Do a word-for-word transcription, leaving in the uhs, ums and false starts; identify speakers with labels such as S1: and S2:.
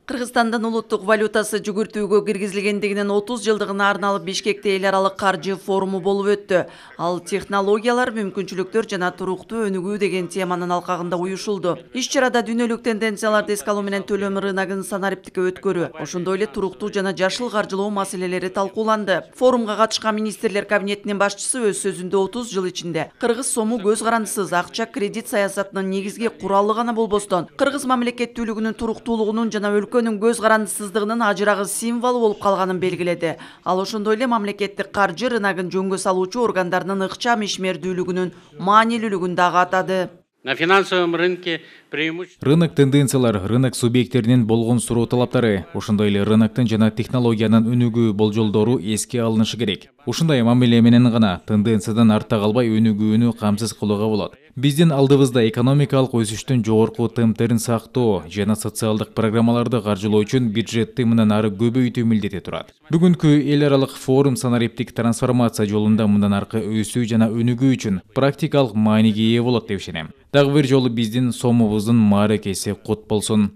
S1: Кыргызстандын улуттук валютасы жүгүртүүгө киргизилгендигинин отуз жылдыгына арналып Бишкекте эл аралык каржы форуму болуп өттү. Ал технологиялар, мүмкүнчүлүктөр жана туруктуу өнүгүү деген теманын алкагында уюшулду. Иш чарада дүйнөлүк тенденцияларды эске алуу менен төлөм рыногун санариптикке өткөрүү, ошондой эле туруктуу жана жашыл каржылоо маселелери талкууланды. Форумга катышкан министрлер кабинетинин башчысы өз сөзүндө отуз жыл ичинде кыргыз сому көз карандысыз акча кредит саясатынын негизги куралы гана болбостон, кыргыз мамлекеттүүлүгүнүн туруктуулугунун жана өлкөнүн көз карандысыздыгынын ажырагыс символу болуп калганын белгиледи. Ал ошондой эле мамлекеттик каржы рыногун жөнгө салуучу органдарынын ыкчам ишмердүүлүгүнүн маанилүүлүгүн дагы атады.
S2: На финансовом рынке преимущество.
S3: Рынок тенденциялар, рынок субъекттеринин болгон суроо талаптары, ошондой эле рыноктун жана технологиянын өнүгүү болжолдору эске алынышы керек. Ушундай мамиле менен гана тенденциядан артта калбай өнүгүүнү камсыз кылууга болот. Биздин алдыбызда экономикалык өсүштүн жогорку темптерин сактоо жана социалдык программаларды каржылоо үчүн бюджетти мындан ары көбөйтүү милдети турат. Бүгүнкү эл аралык форум санариптик трансформация жолунда мындан аркы өсүү жана өнүгүү үчүн практикалык мааниге ээ болот деп ишенем. Дагы бир жолу биздин сомубуздун мааракеси кут болсун.